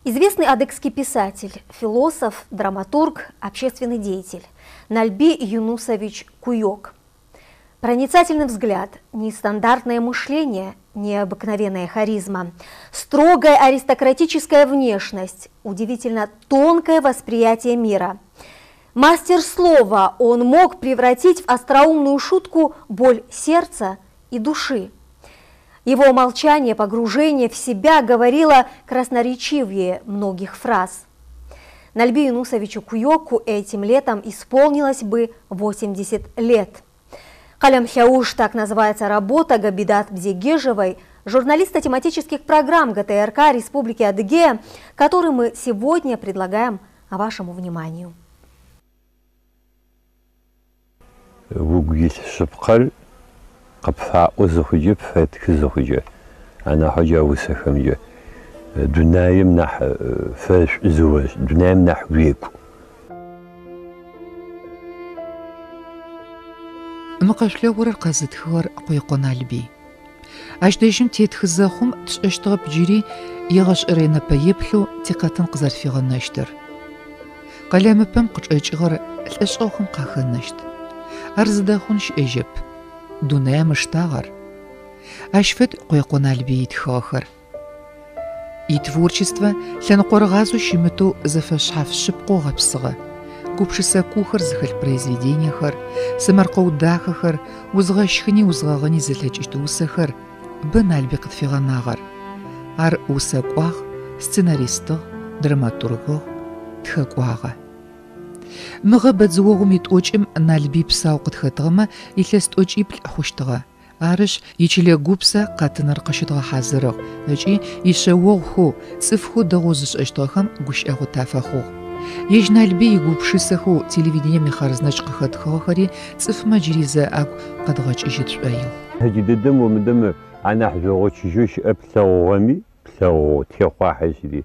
Известный адыгский писатель, философ, драматург, общественный деятель Нальби Юнусович Куйок. Проницательный взгляд, нестандартное мышление, необыкновенная харизма, строгая аристократическая внешность, удивительно тонкое восприятие мира. Мастер слова, он мог превратить в остроумную шутку боль сердца и души. Его молчание, погружение в себя говорило красноречивее многих фраз. Нальби Юнусовичу Куйоку этим летом исполнилось бы 80 лет. Къэлэм лъэуж, так называется работа Габидат Бзегежевой, журналиста тематических программ ГТРК Республики Адыгея, который мы сегодня предлагаем вашему вниманию. Угу илъ шъыпкъэр къыпфаӏо зыхъукӏэ, пфэтхы зыхъукӏэ, анахьэу джа усэхэмкӏэ, дунаим нахь фэшӏу зыошӏ, дунаим нахь уекӏу. Мы къэшъулъэгъурэр къэзытхыгъэр Къуекъо Налбый. Ащ дэжьым тетхы зэхъум тшӏэщтыгъэп джыри егъэшӏэрэ нэпэеплъэу тикъэтын къызэрфигъэнэщтыр. Къэлэмыпэм къычӏэкӏыгъэр лӏэшӏэгъухэм къахэнэщт. Ар зыдэхъун щыӏэжьэп. Дунаим ыштагъ ар. Ащ фэд Къуекъо Налбый итхыгъэхэр. Итворчествэ лъэныкъорыгъазэу щымытэу зэфэшъхьаф шъыпкъэу гъэпсыгъэ. Гупшысэ куухэр зыхэлъ произведениехэр, сэмэркъэу дахэхэр, узгъэщхыни узгъэгъыни зылъэкӏыщт усэхэр бэ Налбый къытфигъэнагъэр. Ар усэкӏуагъ, сценаристыгъ, драматургыгъ, тхэкӏуагъэ. Мыгъэ бэдзыогъум итӏокӏым Налбый псау къытхэтыгъэмэ илъэс тӏокӏиплӏ хъущтыгъэ. Арышъ, ичылэ гупсэ къэтыныр къыщыдгъэхьазырыгъ ыкӏи ишъэогъухэу, цӏыфхэу дэгъоу зышӏэщтыгъэхэм гущыӏэгъу тафэхъугъ. Ежь Налбый игупшысэхэу телевидением ихъарзынэщ къыхэтхыгъэхэри цӏыфмэ джыри зэ агу къэдгъэкӏыжьы тшӏоигъу. Джыдэдэм омыдэм анахь жъогъо чыжьэу щыӏэ плъэгъугъэми, плъэгъугъэу, техъуахьыщри.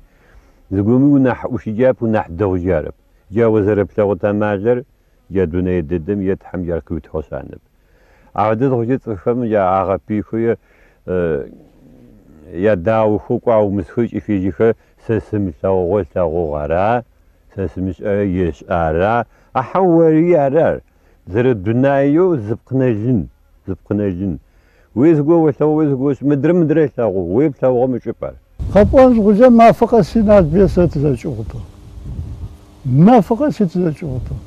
Зыгоми унахь ӏушыджап, унахь дэгъуджи арэп. Джа о зэрэплъэгъут амалэр джа дунэе дэдэм е Тхьэм джар къыуитыгъэшъ анэп. Адэ зыхъукӏэ цӏыфхэм агъэпыйхэу е ядаохэу кӏо аумысхэу ыкӏи фежьэхэ сэ сымылъэгъугъэ ылъэгъугъ ара, сэ сымышӏэрэ ешӏэ ара, а хьау ори ары ар. Зэрэдунаеу зыпкъынэлын, зыпкъынэлын. Уе зыгорэ олъэгъу, уе зыгорэ ошӏэ, мыдрэ мыдрэ ылъэгъугъ, уе плъэгъугъэм ычӏыпӏ ар. Къэпӏон зыхъукӏэ мафэ къэси Налбые сэ тызэкӏыгъутыгъ. Мафэ къэси тызэкӏыгъутыгъ.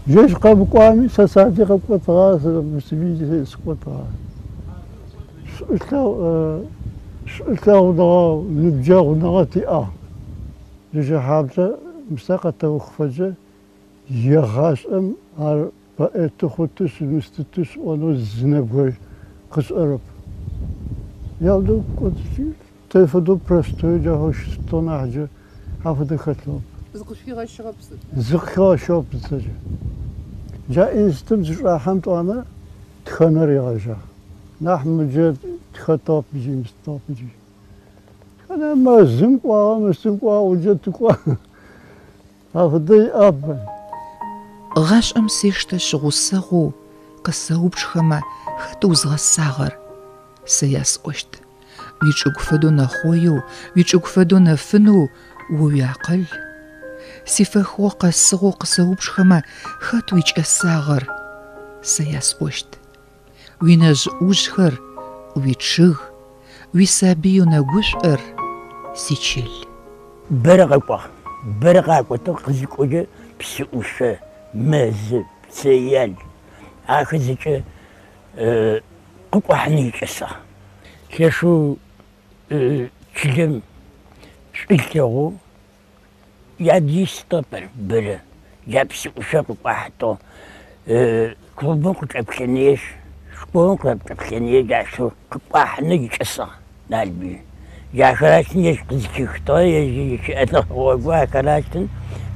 Ежь къэмыкӏуами, сэ садэжь къэкӏотыгъа, сэ Муслимин сыкӏотыгъа. Шӏулъэгъуныгъэ, ныбджэгъуныгъэ тиӏагъ. Джэджэхьаблэ Мыстэ къэтэухыфэкӏэ егъашӏэм ар Поэты хъутышъ, мыстытышъ ыӏонэу зы нэбгырэ къышӏэрэп. Яудэу кӏодыжьи, тэ фэдэу простой джахэу щытыгъ нахь джы афэдэ хэлъыгъэп. Зыкъышъухигъэщыгъэп сыд? Зыкъыхигъэщыгъэп зыцэкӏэ. Джа институтым зычӏахьэм тӏуанэ тхэныр ригъэжьагъ. Нахь мыджэ тхэтыгъэп джы, мыстыгъэп джы. Тхэнэ мэзым кӏуагъэ, мыстым кӏуагъэ, уджэ тыкӏуагъ. Афэдэ иӏэп. Гъашӏэм сештэшъ гъусэгъоу къысэупчӏхэмэ, хэт узгъэсагъэр? Сэ ясӏощт. Уичӏыгу фэдэу нэхъоеу, уичӏыгу фэдэу нэфынэу о уиакъыл. Сифэхыгъо къэсыгъэу къысэупчӏхэмэ, хэт уикӏэсагъэр? Сэ ясӏощт. Уинэжъ-ӏужъхэр, уичъыг, уисабыеу нэгушӏор, сичыл. Бэрэ къэкӏуагъ, бэрэ къакӏотыгъ, къызыкӏокӏэ псыӏушъо, мэзы, пцэял, ахэр зэкӏэ къыкӏухьанэу икӏэсагъ. Лъэшэу чылэм шӏу ылъэгъоу Ядистэп ар бэрэ, джа псыӏушъо къыкӏуахьытыгъ. Клубым къычӏэплъэныешъ, школым къычӏэплъэныешъ, джащтэу къыкӏуахьынэу икӏэсагъ Налбый. Джахэращтын ежь къызыхихытыгъэ, ежь ищыӏэныгъэ гъогу ахэращтын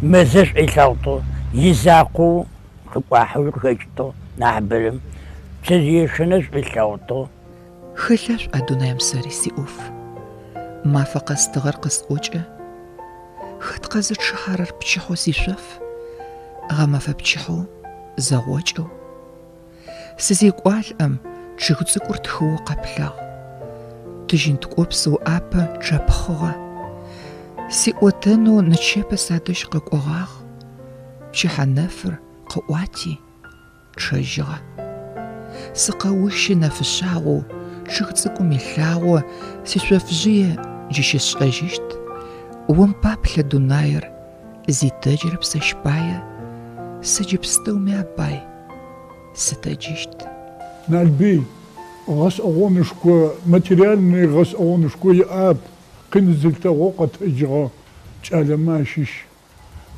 мэзыр шӏу ылъэгъутыгъ, изакъоу къыкӏуахьэуи къыхэкӏытыгъ нахьыбэрэм. Пцэжъыешэныр шӏу ылъэгъутыгъ. Хэлъа шъуӏа дунаим сэри сиӏоф? Мафэ къэс тыгъэр къысӏокӏэ. Хэт къэзычъыхьэрэр пчыхьэу сишъоф? Гъэмэфэ пчыхьэу зэгъокӏэу. Сызекӏуалӏэм, чъыг цӏыкӏур тхыоу къэплъагъ. Тыжьын ткӏопсэу ӏапэ чъэпхъыгъэ. Сиӏотэнэу нычэпэ садэжь къэкӏогъагъ, Пчыхьэ нэфыр къыӏуати, чъэжьыгъэ. Сыкъэущы нэфышъагъоу, чъыг цӏыкӏум илъагъо Сишъофжъые джы щысшӏэжьыщт. Ом паплъэ дунаир, зи тэджырэп сэщ пае, Сэ джы пстэуми апай сытэджыщт. Налбый гъэшӏэгъонышхо, материальный гъэшӏэгъонышхо иӏэп, къин зылъэгъоу къэтэджыгъэ кӏалэмэ ащыщ.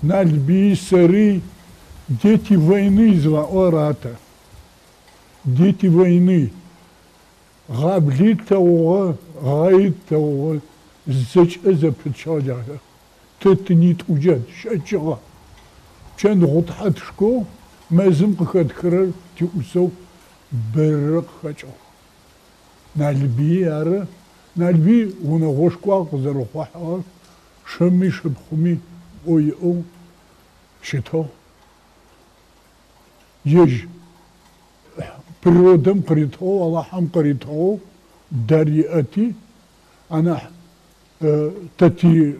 Налбыи сэри дети войны зыфаӏорэр ары тэ. Дети войны. Гъабли тлъэгъугъэ, гъэи тлъэгъугъэ, зэкӏэ зэпытчыгъэ джахэр. Тэ тынитӏуджэ тщэчыгъэ. Пчэн гъутхьэ тшкоу мэзым къыхэтхырэр тиӏусэу бэрэ къыхэкӏыгъ. Налбыи ары. Налбый унэгъошхуагъ къызэрыхъухьыгъэр, шыми шыпхъуми ӏо иӏэу щытыгъ. Ежь природэм къыритыгъэу, Алахьэм къыритыгъэу дар иӏэти, анахь тэ ти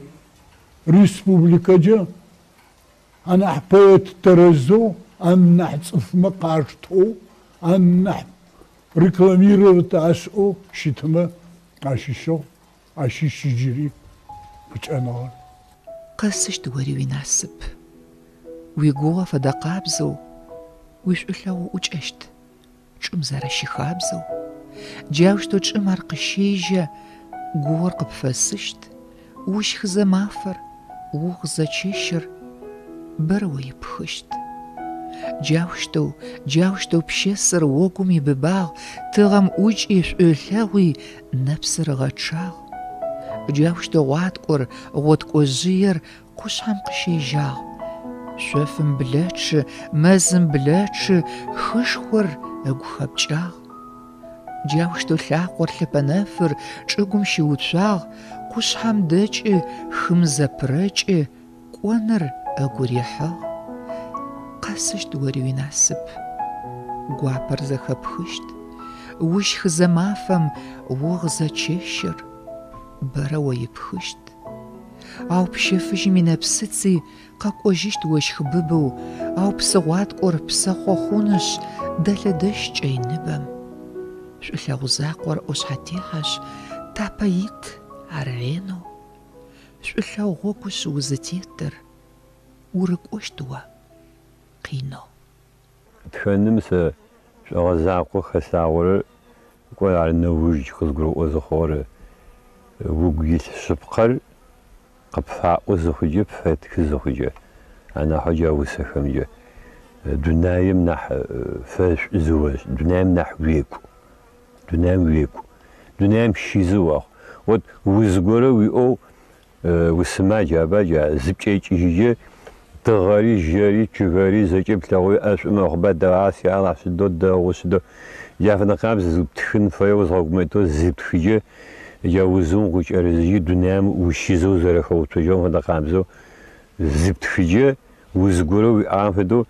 республикэкӏэ анахь поэт тэрэзэу, анахь цӏыфмэ къаштэу, анахь рекламировать ашӏэу щытымэ ащыщыгъ, ащыщ джыри къыкӏэныгъэр. Къэсыщт ори уинасып. Уигугъэ фэдэ къабзэу уишӏулъэгъу ӏукӏэщт. Чӏым зэрэщыхабзэу, джаущтэу чӏым ар къыщежьэ, гугъэр къыпфэсыщт, ущхызэ мафэр, угъызэ чэщыр бэрэ о ипхыщт. Джаущтэу, джаущтэу пщэсыр огум ибыбагъ, тыгъэм ӏукӏи, шӏу ылъэгъуи, нэпсыр ыгъэчъагъ. Джаущтэу гъуаткӏор, гъоткӏожъыер Къушъхьэм къыщежьагъ. Шъофым блэчъы, мэзым блэчъы, хышхор ыгу хэпкӏагъ. Джаущтэу лъакъор лъэпэнэфыр чӏыгум щыуцуагъ, къушъхьэм дэкӏы, хым зэпырэкӏы, кӏоныр ыгу рихьыгъ. Къэсыщт ори уинасып, гуапэр зэхэпхыщт, ущхызэ мафэм, угъызэ чэщыр бэрэ о ипхыщт. Ау пщэ фыжьым инэпсыци къэкӏожьыщт ощх быбэу, ау псы гъуаткӏор псэхъо хъунышъ, дэлъэдэщт кӏэй ныбэм. Шӏулъэгъу закъор ӏошъхьэтехьэшъ, тапэ ит ар ренэу. Шӏулъэгъу гъогушъ узытетыр, урыкӏощт о къинэу. Тхэным сэ шӏогъэ закъоу хэслъагъорэр, кӏо ар нэуж къызгурыӏо зыхъугъэр, угу илъ шъыпкъэр къыпфаӏо зыхъукӏэ, пфэтхы зыхъукӏэ, анахьэу джа усэхэмкӏэ, дунаим нахь фэшӏу зыошӏы, дунаим нахь уекӏу, дунаим уекӏу, дунаим щизы охъу. Вот уз горэ уиӏэу Усымадж аба джа зыпкӏэкӏыжьыджэ, тыгъэри, жьэри, чъыгэри зэкӏэ плъэгъуи ӏэшӏу мэхъуба, дэгъа, си Алахь, сыдэу дэгъу, сыдэу. Джа фэдэ къабз зыптхын фэе узгъэгумэкӏэу зыптхыджэ, джа узым укъыкӏэрызыжьи дунаим ущизэу зэрэхэуцожьыгъэм фэдэ къабзэу зыптхыджэ, уз горэ уиӏагъэм фэдэу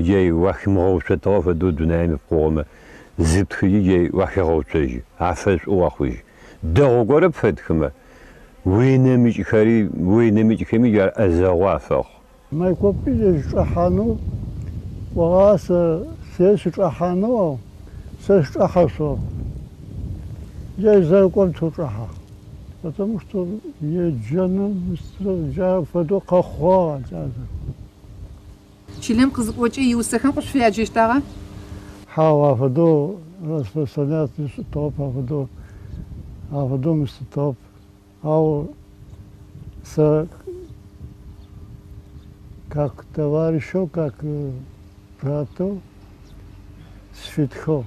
джа уахимыгъэуцотыгъэ фэдэу дунаим ипкъыгъомэ зыптхыджи джа уахегъэуцожьы, афэшӏу уэхъужьы. Дэгъу горэ пфэтхымэ, уинэмыкӏхэри, уинэмыкӏхэми джар ӏэзэгъу афэхъу. Майкопи ежь чӏэхьанэу кӏогъагъэ, сэ се сычӏэхьанэу, ау сэ сычӏэхьэшъугъэп. Ежь зэрэкӏом теу чӏэхьагъ. Потому что еджэным джа фэдэу къэхъугъагъ а кӏалэр. Чылэм къызыкӏокӏэ иусэхэм къышъуфяджэщтагъа? Хьау, афэдэу распространять ышӏытыгъэп, афэдэу, афэдэу мыстытыгъэп. Ау сэ как товарищэу, как братэу сфитхыгъ.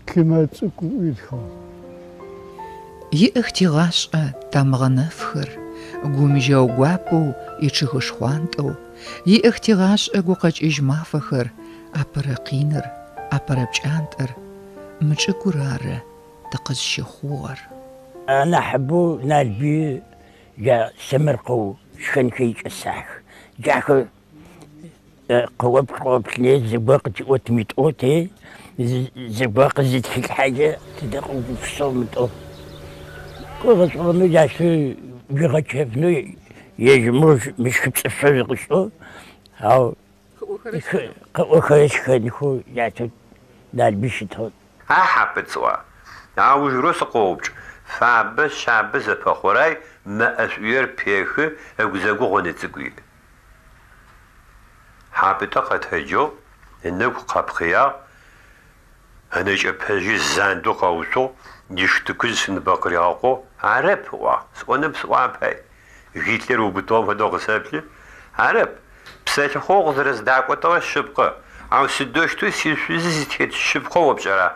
Кимэ цӏыкӏу итхыгъ. Иӏэх тигъашӏэ тамыгъэ нэфхэр, Гум жьэу гуапэу ичъыгы шхъуантӏэу, Иӏэх тигъашӏэ гукъэкӏыжь мафэхэр, Апэрэ къиныр, апэрэ пкӏантӏэр, Мы чӏыгур ары тыкъызщыхъугъэр. Анахьыбэу Налбый джа сэмэркъэу щхэнхэр икӏэсагъэх. Джахэр Къыоплъ-къыоплъыни зыгор къытиӏот мытӏоу те, зыгор къызытхилъхьэкӏэ тыдэ къыугупшысэу мытӏоу. Гъэшӏэгъонэу джащ уигъэчэфынэу ежь мыщхыпцӏышъо зыкъышӏэу, ау къыӏохэрэр шхэнхэу джащтэу Налбый щытыгъ. А Хьапӏытӏ сӏуа? Аужырэу сыкъоупчӏ. Фабэ, шъабэ, зэпэхъурай, мэ ӏэшӏуер пехы, ыгузэгу гъонэ цӏыкӏу иӏ. Хьапӏытӏэ къэтэджыгъ, ынэгу къэпхъыягъ, ынэкӏэпэжъи зандэу къэуцугъ, иштыкыжъ сыныбэ къыригъэкъугъ. Арэп, ыӏуагъ, сӏонэп сӏуапай. Гитлер ыубытыгъэм фэдэу къысэплъы. Арэп, псэлъыхъоу укъызэрэздакӏотыгъэр шъыпкъэ, ау сыдэущтэу сишъузы зытет шъыпкъэу о пшӏэра?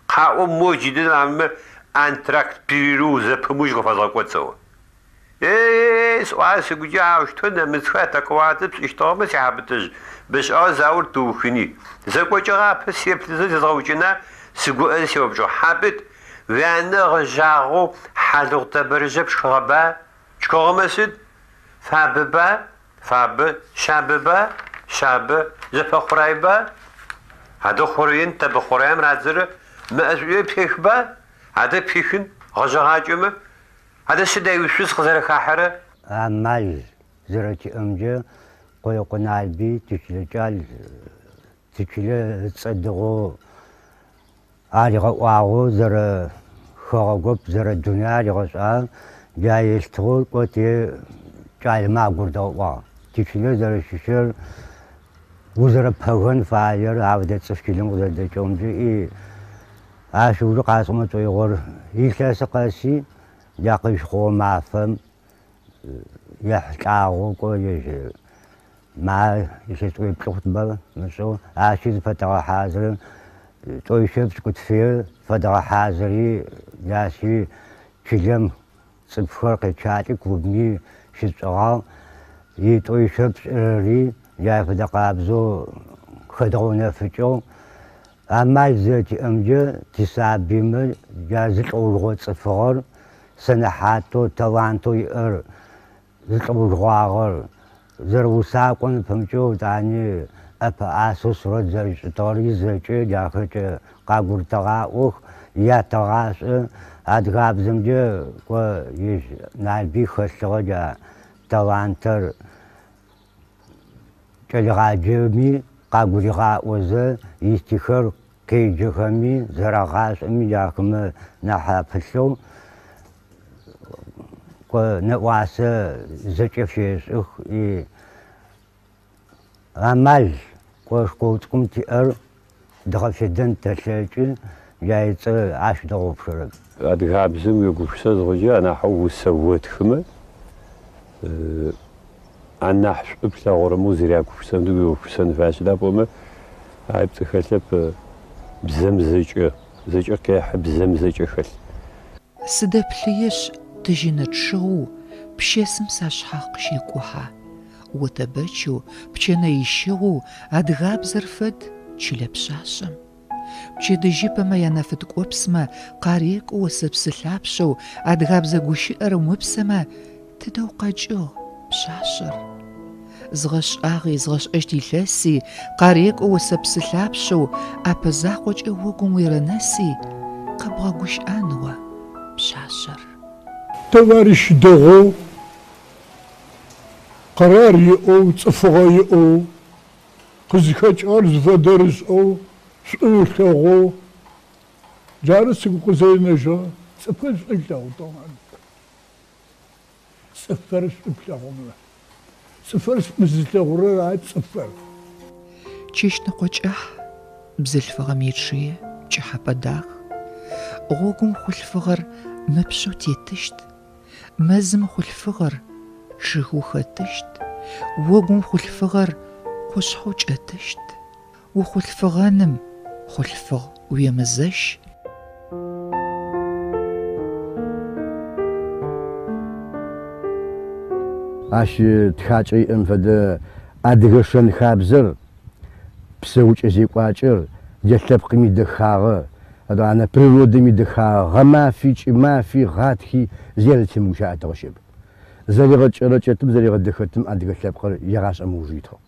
Къаӏо моу джыдэдэм амэ антракт перерыв зэпымыужь къыфэзгъэкӏот сэӏо. Е-е-ей, сӏуагъэ сыгукӏэ, аущтэу нэмыцхэр атаковаться пшӏыщтыгъэмэ, си Хьапӏытӏыжъ, бэшӏагъэ заор тыухыни. Зэкӏокӏыгъапэ сеплъызэ зезгъэукӏына, сыгуӏэзэ сеупчӏыгъ, Хьапӏытӏ, уянэ ыгъэжъагъэу хьалыгъу тэбэрыжъэ пшхыгъэба? Пшхыгъэмэ сыд? Фабэба? Фабэ. Шъабэба? Шъабэ. Зэпэхъурайба? Адэ хъураен тэбэ хъураем радзэрэ мэ ӏэшӏуе пехба? Адэ пихын, гъэжъэгъакӏэмэ? Адэ сыда уишъуз къызэрэхахьэрэ? Амал зэрэтиӏэмкӏэ Къуекъо Налбый тичылэ кӏал, тичылэ ыцӏэ дэгъоу аригъэӏуагъэу зэрэ хэгъэгоп, зэрэ дунай аригъэшӏагъ, джа елъытыгъэу кӏо те кӏалэмэ агурыдгъэӏуагъ. Тичылэ зэрэщыщыр, узэрэпэгэн фаер, афэдэ цӏыф чылэм къызэрэдэкӏыгъэмкӏэ и ащ ыужы къасӏомэ шӏоигъор илъэсы къэси джа къызщыхъугъэ мафэм ехьылӏагъэу кӏо ежь ма илъэс тӏоипшӏы хъутба мышӏэу ащи зыфэтэгъэхьазыры, тӏоишъэ пшӏыкӏутфы фэдгъэхьазыри, ащи чылэм цӏыфхэр къечъалӏи клубми щытшӏыгъагъ. Итӏоишъэ пшӏырэри джай фэдэ къабзэу хэдгъэунэфыкӏыгъ. Амал зэрэтиӏэмкӏэ тисабыймэ джа зы лӏэужыгъо цӏыфыгъэр, сэнэхьатэу, талантэу иӏэр зы лӏэужыгъуагъэр, зэрэусакӏом пэмыкӏэу етӏани ӏэпэӏасэу сурэт зэришӏытыгъэри зэкӏэ джахэкӏэ къагурытэгъаӏох, ятэгъашӏэ. Адыгабзэмкӏэ кӏо ежь Налбый хэлъыгъэ джа талантэр кӏэлэегъаджэми къагуригъаӏозэ, истиххэр къеджэхэми, зэрагъашӏэми джахэмэ нахь апылъэу кӏо нэӏуасэ зэкӏэ фешӏых. И амал кӏо школ цӏыкӏум тиӏэр дгъэфедэн тэлъэкӏы, джа ыцӏэ ащ дгъэгъупшэрэп. Адыгабзэм уегупшысэ зыхъукӏэ, анахьэу усэ отхымэ, анахь шӏу плъэгъурэмэ узэрягупшысэн уегупшысэн фае. Сыда пӏомэ, ай пцӏы хэлъэп, бзэм зэкӏэ, зэкӏэ къехьы, бзэм зэкӏэ хэлъ. Сыдэплъыешъ, тыжьыны чъыгъэу пщэсым сашъхьагъ къыщекӏухьэ. Отэбэчэу, пчэнэ ищыгъэу адыгабзэр фэд чылэ пшъашъэм. Пчэдыжьыпэмэ янэфыткӏопсмэ къарекӏо осэпсы лъапшъэу адыгабзэ гущыӏэр умыпсэмэ, тыдэ укъэкӏыгъ, пшъашъэр? Згъэшӏагъи, згъэшӏэщт илъэси къарекӏо осэпсы лъапшъэу ӏэпэ закъокӏэ огум уерэнэси, къэбгъэгущыӏэн о, пшъашъэр. Товарищ дэгъоу, къэрар иӏэу, цӏыфыгъэ иӏэу, къызыхэкӏыгъэр зыфэдэр ышӏэу, шӏу ылъэгъоу, джары сыгу къызэринэжьыгъэр, цӏыфыр шӏу ылъэгъутыгъ. Цӏыфыр шӏу плъэгъумэ. Цӏыфыр шӏу зылъэгъурэр ары цӏыфыр. Чэщныкъо кӏыхь, бзылъфыгъэм ичъые пкӏыхьэпӏэ дах. Гъогум хъулъфыгъэр мыпшъэу тетыщт, мэзым хъулъфыгъэр чъыгэу хэтыщт, огум хъулъфыгъэр къушъхьэу кӏэтыщт. Ухъулъфыгъэным, хъулъфыгъ, уемызэщ. Ащ тхакӏэ иӏэм фэдэ адыгэ шэн-хабзэр, псэукӏэ-зекӏуакӏэр, джа лъэпкъым идэхагъэ, етӏанэ природэм идэхагъэ, гъэмафи, кӏымафи, гъатхи зи зэрэтемыгущыӏэтыгъэ щыӏэп. Зэригъэкӏэрэкӏэтым, зэригъэдэхэтым адыгэ лъэпкъыр егъашӏэм ыуж итыгъ.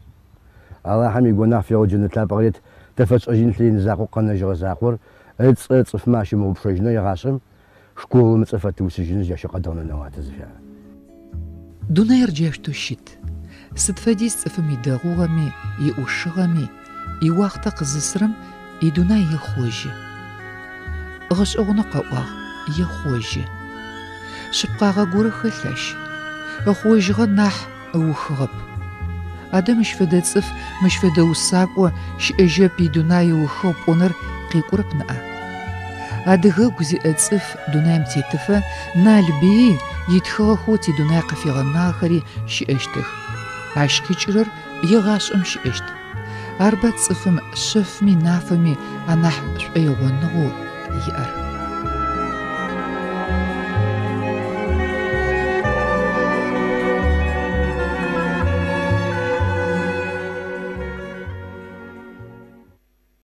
Алахьэм игонахь фегъэу джэнэт лъапӏэ къырет, тэ фэтшӏэжьын лъы закъоу къэнэжьыгъэ закъор, ыцӏэ цӏыфмэ ащымыгъупшэжьынэу егъашӏэм. Школым ыцӏэ фэтыусыжьынышъ, джащ къэдгъэнэнэу ары тызыфяр. Дунаир джаущтэу щыт. Сыд фэдиз цӏыфым идэгъугъэми, иӏушыгъэми, иуахътэ къызысрэм идунай ехъожьы. Гъэшӏэгъонэу къэӏуагъ, ехъожьы. Шъыпкъагъэ горэ хэлъ ащ. Ыхъожьыгъэ нахь ыухыгъэп. Адэ мыщ фэдэ цӏыф, мыщ фэдэ усакӏо щыӏэжьэп идунай ыухыгъ пӏоныр къекӏурэп ныӏа? Адыгэгу зиӏэ цӏыф дунаим тетыфэ Налбыий итхыгъэхэу тидунай къыфигъэнагъэхэри щыӏэщтых. Ащ къикӏырэр егъашӏэм щыӏэщт. Арба цӏыфым шъэфми нафэми анахь шӏоигъоныгъэу иӏэр.